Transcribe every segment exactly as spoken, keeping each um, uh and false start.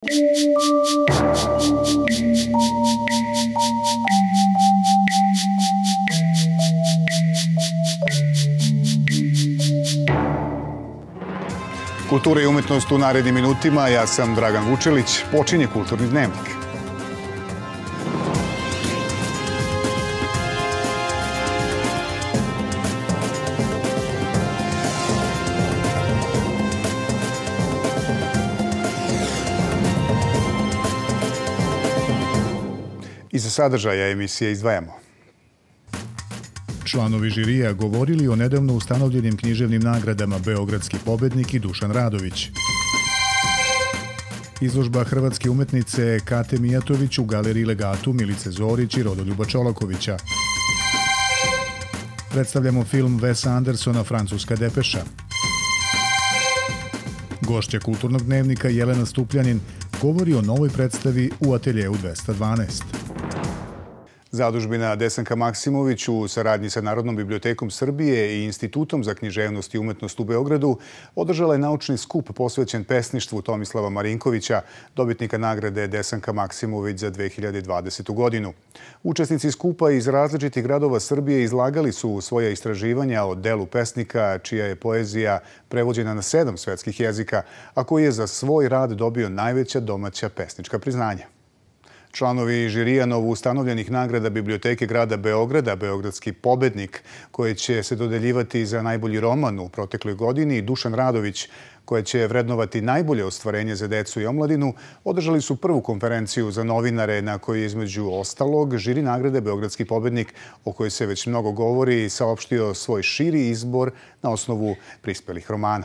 Kultura i umetnost u narednim minutima. Ja sam Dragan Vučelić. Počinje Kulturni dnevnik. Iz sadržaja emisije izdvajamo. Članovi žirija govorili o nedavno ustanovljenim književnim nagradama Beogradski pobednik i Dušan Radović. Izložba hrvatske umetnice Kate Mijatović u galeriji Legatu Milice Zorić i Rodoljuba Čolakovića. Predstavljamo film Wesa Andersona Francuska depeša. Gošća Kulturnog dnevnika Jelena Stupljanin govori o novoj predstavi u ateljeu dvesta dvanaest. Zadužbina Desanka Maksimović u saradnji sa Narodnom bibliotekom Srbije i Institutom za književnost i umetnost u Beogradu održala je naučni skup posvećen pesništvu Tomislava Marinkovića, dobitnika nagrade Desanka Maksimović za dve hiljade dvadesetu. godinu. Učesnici skupa iz različitih gradova Srbije izlagali su svoja istraživanja o delu pesnika, čija je poezija prevođena na sedam svetskih jezika, a koji je za svoj rad dobio najveća domaća pesnička priznanja. Članovi žirija novoustanovljenih nagrada Biblioteke grada Beograda, Beogradski pobednik, koji će se dodeljivati za najbolji roman u protekloj godini, i Dušan Radović, koja će vrednovati najbolje ostvarenje za decu i omladinu, održali su prvu konferenciju za novinare na kojoj je između ostalog žiri nagrade Beogradski pobednik, o kojoj se već mnogo govori, saopštio svoj širi izbor na osnovu prispelih romana.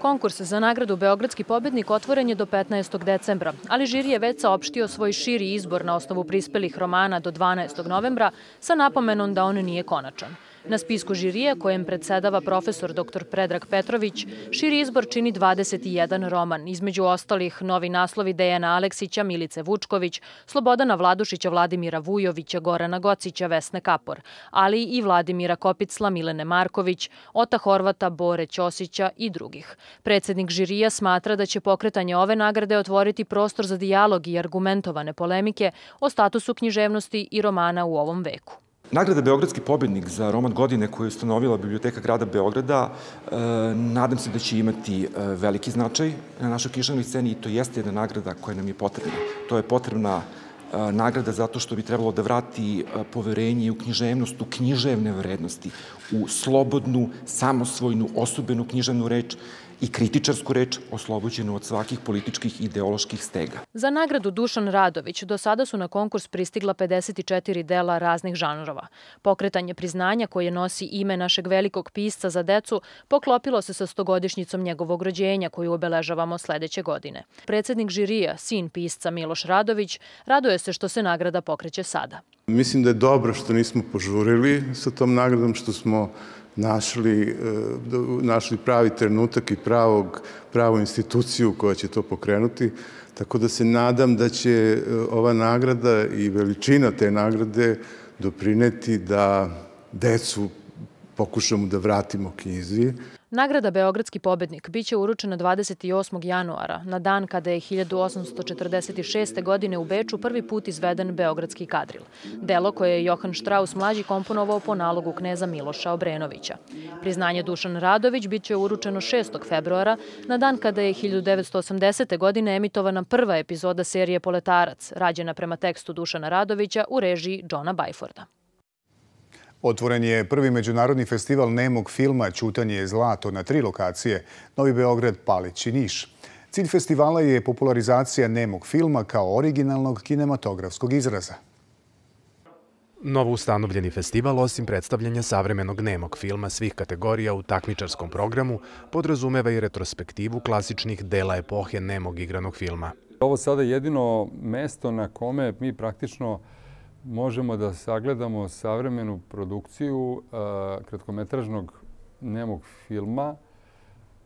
Konkurs za nagradu Beogradski pobednik otvoren je do petnaestog decembra, ali žiri je već saopštio svoj širi izbor na osnovu prispelih romana do dvanaestog novembra sa napomenom da on nije konačan. Na spisku žirija, kojem predsedava profesor doktor Predrag Petrović, širi izbor čini dvadeset jedan roman, između ostalih novi naslovi Dejana Aleksića, Milice Vučković, Slobodana Vladušića, Vladimira Vujovića, Gorana Gocića, Vesne Kapor, ali i Vladimira Kopicla, Milene Marković, Ota Horvata, Bore Ćosića i drugih. Predsednik žirija smatra da će pokretanje ove nagrade otvoriti prostor za dijalog i argumentovane polemike o statusu književnosti i romana u ovom veku. Nagrada Beogradski pobednik za roman godine koju je ustanovila Biblioteka grada Beograda, nadam se da će imati veliki značaj na našoj književnoj sceni i to jeste jedna nagrada koja nam je potrebna. To je potrebna nagrada zato što bi trebalo da vrati poverenje u književnost, u književne vrednosti, u slobodnu, samosvojnu, osobenu književnu reč i kritičarsku reč oslobođenu od svakih političkih i ideoloških stega. Za nagradu Dušan Radović do sada su na konkurs pristigla pedeset četiri dela raznih žanrova. Pokretanje priznanja koje nosi ime našeg velikog pisca za decu poklopilo se sa stogodišnjicom njegovog rođenja koju obeležavamo sledeće godine. Predsednik žirija, sin pisca Miloš Radović, raduje se što se nagrada pokreće sada. Mislim da je dobro što nismo požurili sa tom nagradom, što smo našli, našli pravi trenutak i pravog, pravu instituciju koja će to pokrenuti. Tako da se nadam da će ova nagrada i veličina te nagrade doprineti da decu pokušamo da vratimo knjizi. Nagrada Beogradski pobednik biće uručena dvadeset osmog januara, na dan kada je hiljadu osamsto četrdeset šeste. godine u Beču prvi put izveden Beogradski kadril. Delo koje je Johan Štraus mlađi komponovao po nalogu kneza Miloša Obrenovića. Priznanje Dušan Radović biće uručeno šestog februara, na dan kada je hiljadu devetsto osamdesete. godine emitovana prva epizoda serije Poletarac, rađena prema tekstu Dušana Radovića u režiji Johna Byforda. Otvoren je prvi međunarodni festival nemog filma Ćutanje je zlato na tri lokacije – Novi Beograd, Palić i Niš. Cilj festivala je popularizacija nemog filma kao originalnog kinematografskog izraza. Novo ustanovljeni festival, osim predstavljanja savremenog nemog filma svih kategorija u takmičarskom programu, podrazumeva i retrospektivu klasičnih dela epohe nemog igranog filma. Ovo sada je jedino mesto na kome mi praktično možemo da sagledamo savremenu produkciju kratkometražnog nemog filma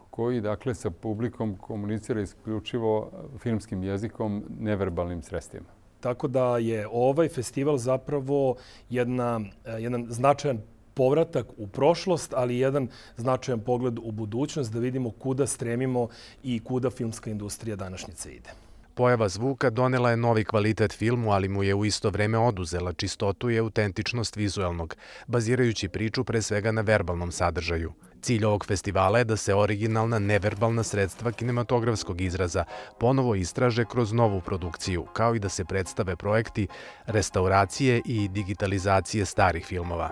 koji, dakle, sa publikom komunicira isključivo filmskim jezikom, neverbalnim sredstvima. Tako da je ovaj festival zapravo jedna, jedan značajan povratak u prošlost, ali jedan značajan pogled u budućnost da vidimo kuda stremimo i kuda filmska industrija današnjice ide. Pojava zvuka donela je novi kvalitet filmu, ali mu je u isto vreme oduzela čistotu i autentičnost vizuelnog, bazirajući priču pre svega na verbalnom sadržaju. Cilj ovog festivala je da se originalna neverbalna sredstva kinematografskog izraza ponovo istraže kroz novu produkciju, kao i da se predstave projekti restauracije i digitalizacije starih filmova.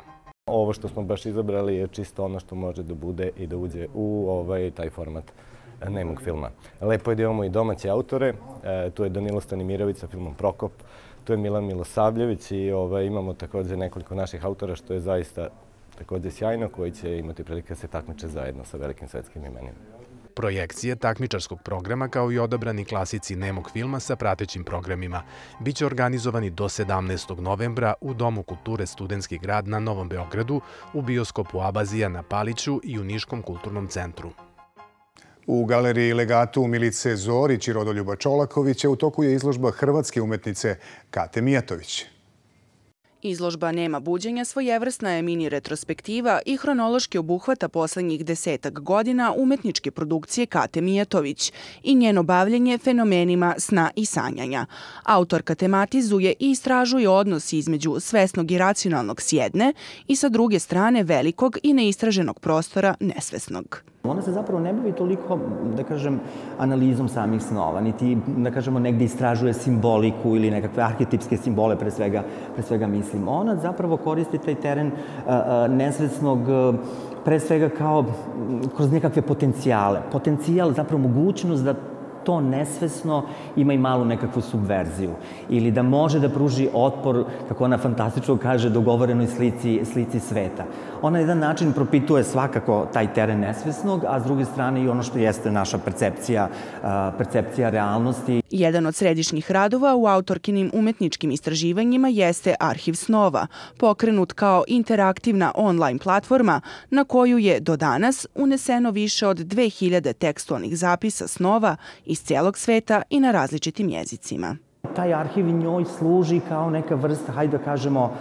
Ovo što smo baš izabrali je čisto ono što može da bude i da uđe u ovaj, taj format nemog filma. Lepo je da imamo i domaće autore, e, tu je Danilo Stanimirović sa filmom Prokop, tu je Milan Milosavljević i ovaj, imamo također nekoliko naših autora što je zaista također sjajno, koji će imati prilike da se takmiče zajedno sa velikim svetskim imenima. Projekcije takmičarskog programa kao i odabrani klasici nemog filma sa pratećim programima biće organizovani do sedamnaestog novembra u Domu kulture Studentski grad na Novom Beogradu, u bioskopu Abazija na Paliću i u Niškom kulturnom centru. U galeriji Legatu Milice Zorić i Rodoljuba Čolakovića u toku je izložba hrvatske umetnice Kate Mijatović. Izložba Nema buđenja svojevrsna je mini retrospektiva i hronološki obuhvata poslednjih desetak godina umetničke produkcije Kate Mijatović i njeno bavljenje fenomenima sna i sanjanja. Autorka tematizuje i istražuje odnos između svesnog i racionalnog s jedne i sa druge strane velikog i neistraženog prostora nesvesnog. Ona se zapravo ne bavi toliko, da kažem, analizom samih snova, niti, da kažemo, negdje istražuje simboliku ili nekakve arhetipske simbole, pre svega, pre svega mislim. Ona zapravo koristi taj teren nesvesnog, pre svega kao kroz nekakve potencijale. Potencijal, zapravo mogućnost da to nesvesno ima i malu nekakvu subverziju ili da može da pruži otpor, kako ona fantastično kaže, dogovorenoj slici, slici sveta. Ona na jedan način propituje svakako taj teren nesvesnog, a s druge strane i ono što jeste naša percepcija, percepcija realnosti. Jedan od središnjih radova u autorkinim umetničkim istraživanjima jeste Arhiv snova, pokrenut kao interaktivna online platforma na koju je do danas uneseno više od dve hiljade tekstualnih zapisa snova iz cijelog sveta i na različitim jezicima. Taj arhiv njoj služi kao neka vrsta, hajde da kažemo,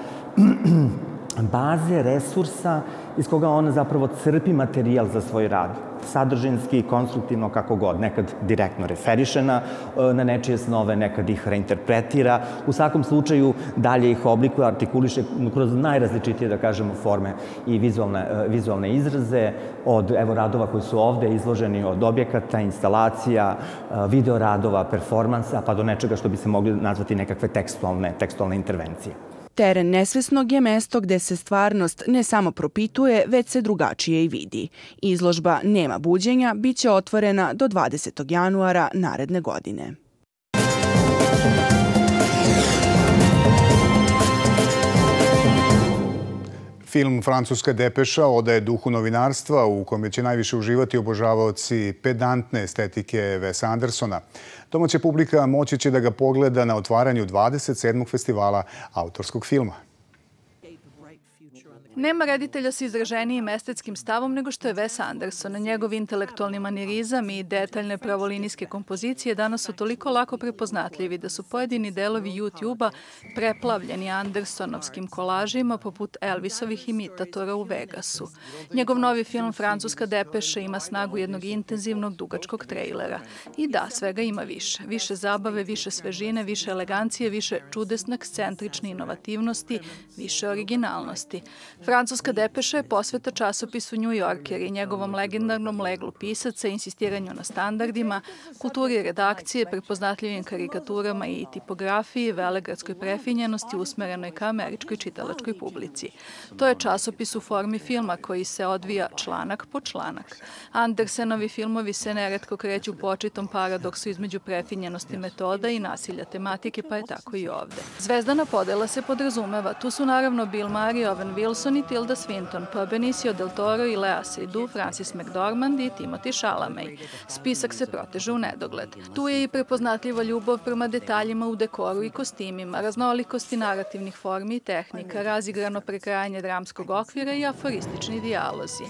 baze, resursa iz koga ona zapravo crpi materijal za svoj rad. Sadržinski, konstruktivno, kako god. Nekad direktno referiše na, na nečije snove, nekad ih reinterpretira. U svakom slučaju dalje ih oblikuje, artikuliše kroz najrazličitije, da kažemo, forme i vizualne, vizualne izraze. Od evo radova koji su ovde izloženi, od objekata, instalacija, video radova, performansa, pa do nečega što bi se mogli nazvati nekakve tekstualne, tekstualne intervencije. Teren nesvesnog je mesto gde se stvarnost ne samo propituje, već se drugačije i vidi. Izložba Nema buđenja biće otvorena do dvadesetog januara naredne godine. Film Francuska depeša odaje duhu novinarstva u kome će najviše uživati obožavaoci pedantne estetike Wesa Andersona. Domaća publika moći će da ga pogleda na otvaranju dvadeset sedmog festivala autorskog filma. Nema reditelja sa izraženijim estetskim stavom nego što je Wes Anderson. Njegov intelektualni manirizam i detaljne pravolinijske kompozicije danas su toliko lako prepoznatljivi da su pojedini delovi YouTube-a preplavljeni Andersonovskim kolažima poput Elvisovih imitatora u Vegasu. Njegov novi film Francuska depeša ima snagu jednog intenzivnog, dugačkog trejlera. I da, svega ima više. Više zabave, više svežine, više elegancije, više čudesne, ekscentrične inovativnosti, više originalnosti. Francuska depeša je posveta časopisu New Yorker i njegovom legendarnom leglu pisaca, insistiranju na standardima, kulturi redakcije, prepoznatljivim karikaturama i tipografiji, velegradskoj prefinjenosti usmerenoj ka američkoj čitalačkoj publici. To je časopis u formi filma koji se odvija članak po članak. Andersenovi filmovi se neretko kreću po očitom paradoksu između prefinjenosti metoda i nasilja tematike, pa je tako i ovde. Zvezdana podela se podrazumeva. Tu su naravno Bill Murray, Owen Wilson i Tilda Swinton, pa Benicio del Toro i Lea Seydoux, Francis McDormand i Timothée Chalamet. Spisak se proteže u nedogled. Tu je i prepoznatljiva ljubav prema detaljima u dekoru i kostimima, raznolikosti narativnih formi i tehnika, razigrano prekrajanje dramskog okvira i aforistični dijalozi.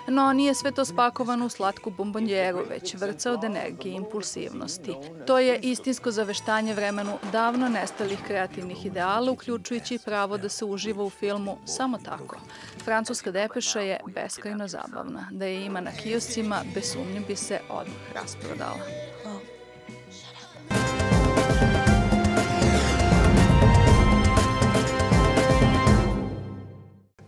No, nije sve to spakovano u slatku bombonjeru, već vrca od energije i impulsivnosti. To je istinsko zaveštanje vremenu davno nestalih kreativnih ideala, uključujući i pravo da se uživa u filmu samo tako. drugo. Francuska depeša je beskrajno zabavna. Da je ima na kioscima, bez sumnje bi se odmah rasprodala.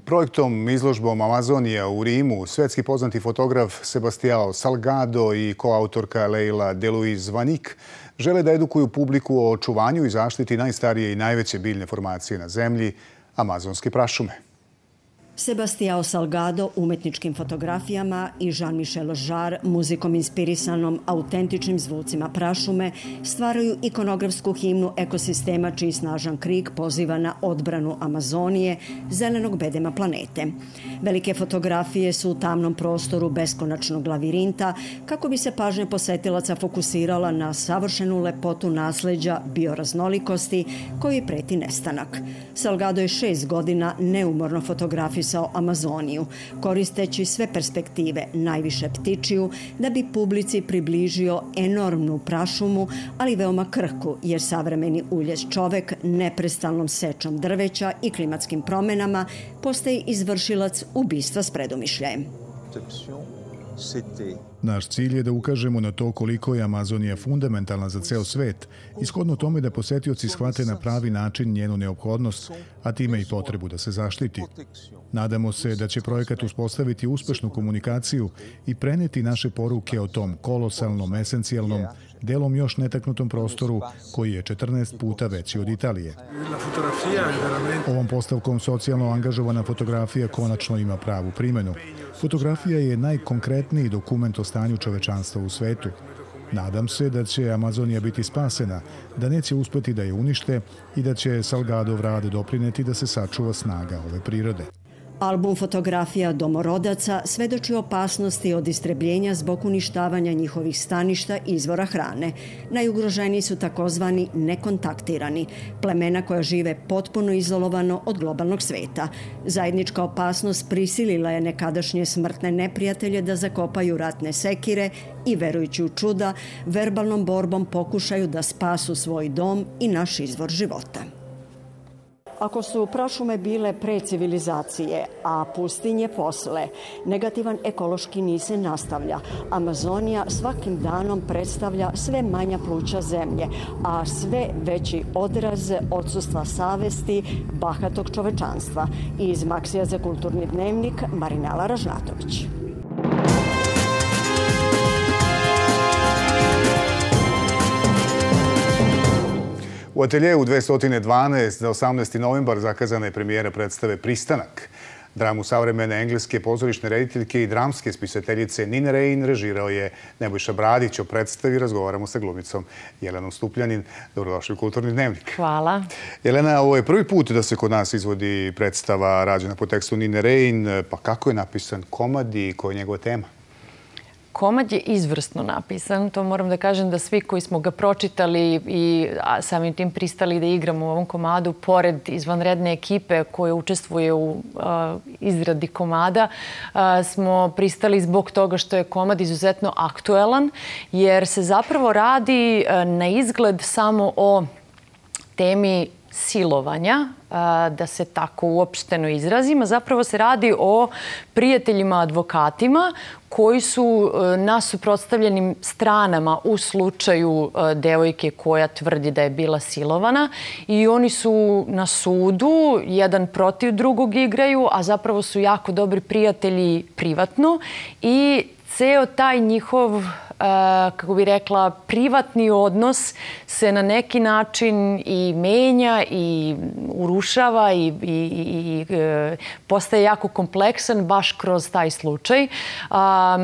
Projektom izložbom Amazonija u Rimu svetski poznati fotograf Sebastião Salgado i koautorka Leila Deluiz Vanik žele da edukuju publiku o očuvanju i zaštiti najstarije i najveće biljne formacije na zemlji, amazonske prašume. Sebastião Salgado umetničkim fotografijama i Jean-Michel Jarre muzikom inspirisanom autentičnim zvucima prašume stvaraju ikonografsku himnu ekosistema čiji snažan krik poziva na odbranu Amazonije, zelenog bedema planete. Velike fotografije su u tamnom prostoru beskonačnog lavirinta kako bi se pažnja posetilaca fokusirala na savršenu lepotu nasleđa bioraznolikosti koji preti nestanak. Salgado je šest godina neumorno fotografisao Amazoniju, koristeći sve perspektive, najviše ptičiju, da bi publici približio enormnu prašumu, ali veoma krhku, jer savremeni uljez čovek neprestalnom sečom drveća i klimatskim promenama postaje izvršilac ubistva s predumišljajem. Naš cilj je da ukažemo na to koliko je Amazonija fundamentalna za ceo svet, ishodno tome da posetioci shvate na pravi način njenu neophodnost, a time i potrebu da se zaštiti. Nadamo se da će projekat uspostaviti uspešnu komunikaciju i preneti naše poruke o tom kolosalnom, esencijalnom, delom još netaknutom prostoru koji je četrnaest puta veći od Italije. Ovom postavkom socijalno angažovana fotografija konačno ima pravu primenu. Fotografija je najkonkretniji dokument o stanju čovečanstva u svetu. Nadam se da će Amazonija biti spasena, da neće uspeti da je unište i da će Salgadov rad doprineti da se sačuva snaga ove prirode. Album fotografija domorodaca svedoči opasnosti od istrebljenja zbog uništavanja njihovih staništa i izvora hrane. Najugroženiji su takozvani nekontaktirani, plemena koja žive potpuno izolovano od globalnog sveta. Zajednička opasnost prisilila je nekadašnje smrtne neprijatelje da zakopaju ratne sekire i, verujući u čuda, verbalnom borbom pokušaju da spasu svoj dom i naš izvor života. Ako su prašume bile pre civilizacije, a pustinje posle, negativan ekološki niz se nastavlja. Amazonija svakim danom predstavlja sve manja pluća zemlje, a sve veći odraz odsustva savesti bahatog čovečanstva. Iz Maksija za kulturni dnevnik, Marinela Ražnatović. U ateljeu dvesta dvanaest za osamnaesti novembar zakazana je premijera predstave Pristanak. Dramu savremene engleske pozorišne rediteljke i dramske spisateljice Nine Rein režirao je Nebojša Bradić. O predstavi razgovaramo sa glumicom Jelenom Stupljanin. Dobrodošli u Kulturni dnevnik. Hvala. Jelena, ovo je prvi put da se kod nas izvodi predstava rađena po tekstu Nine Rein. Pa kako je napisan komad i koja je njegova tema? Komad je izvrsno napisan. To moram da kažem da svi koji smo ga pročitali i samim tim pristali da igramo u ovom komadu, pored izvanredne ekipe koje učestvuje u izradi komada, smo pristali zbog toga što je komad izuzetno aktuelan, jer se zapravo radi na izgled samo o temi silovanja, da se tako uopšteno izrazim. Zapravo se radi o prijateljima advokatima koji su na suprotstavljenim stranama u slučaju devojke koja tvrdi da je bila silovana i oni su na sudu, jedan protiv drugog igraju, a zapravo su jako dobri prijatelji privatno i ceo taj njihov, kako bi rekla, privatni odnos se na neki način i menja i urušava i, i, i postaje jako kompleksan baš kroz taj slučaj. A,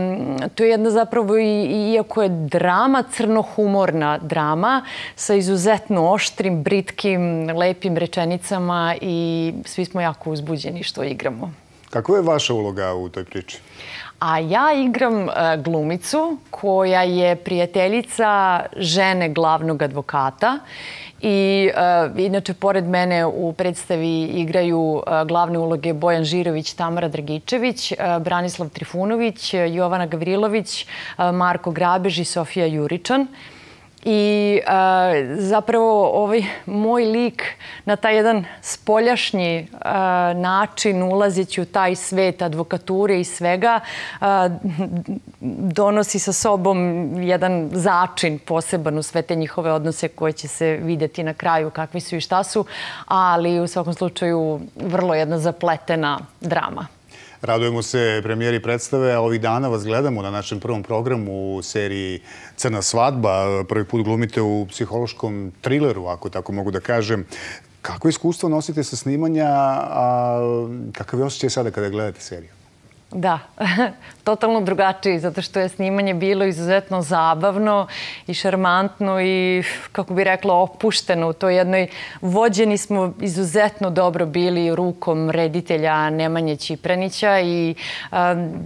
to je jedna zapravo, i, iako je drama, crnohumorna drama sa izuzetno oštrim, britkim, lepim rečenicama i svi smo jako uzbuđeni što igramo. Kakva je vaša uloga u toj priči? A ja igram glumicu koja je prijateljica žene glavnog advokata i inače pored mene u predstavi igraju glavne uloge Bojan Žirović, Tamara Dragičević, Branislav Trifunović, Jovana Gavrilović, Marko Grabež i Sofija Juričan. I zapravo ovaj moj lik na taj jedan spoljašnji način ulazeći u taj svet advokature i svega donosi sa sobom jedan začin poseban u sve te njihove odnose koje će se vidjeti na kraju kakvi su i šta su, ali u svakom slučaju vrlo jedna zapletena drama. Radujemo se premijeri predstave, a ovih dana vas gledamo na našem prvom programu u seriji Crna svadba. Prvi put glumite u psihološkom trileru, ako tako mogu da kažem. Kako iskustvo nosite sa snimanja, a kakav je osjećaj sada kada gledate seriju? Da, totalno drugačiji, zato što je snimanje bilo izuzetno zabavno i šarmantno i, kako bi rekla, opušteno u toj jednoj. Vođeni smo izuzetno dobro bili rukom reditelja Nemanje Čipranića i um,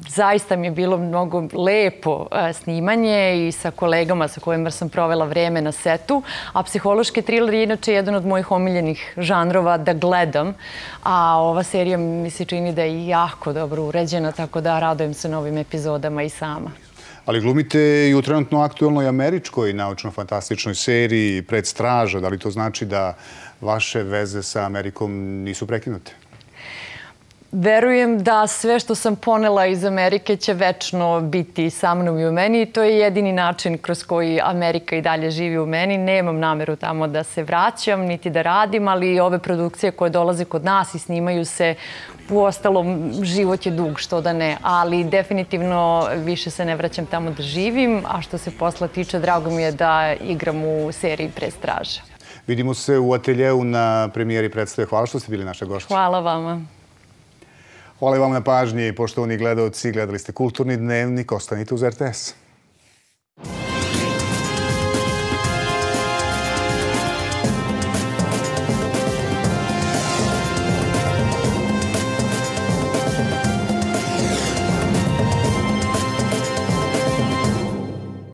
zaista mi je bilo mnogo lepo uh, snimanje i sa kolegama sa kojima sam provela vreme na setu, a psihološki triler je inače jedan od mojih omiljenih žanrova da gledam, a ova serija mi se čini da je jako dobro uređena, tako da radujem se novim epizodama i sama. Ali glumite i u trenutno aktuelnoj američkoj naučno-fantastičnoj seriji Pred straža. Da li to znači da vaše veze sa Amerikom nisu prekinute? Verujem da sve što sam ponela iz Amerike će večno biti sa mnom i u meni i to je jedini način kroz koji Amerika i dalje živi u meni. Nemam nameru tamo da se vraćam, niti da radim, ali ove produkcije koje dolaze kod nas i snimaju se, uostalom, život je dug, što da ne, ali definitivno više se ne vraćam tamo da živim, a što se posla tiče, drago mi je da igram u seriji Pred straža. Vidimo se u ateljeu na premijeri predstave. Hvala što ste bili naša gošća. Hvala vama. Hvala i vam na pažnji, poštovani gledaoci. Gledali ste Kulturni dnevnik. Ostanite uz R T S.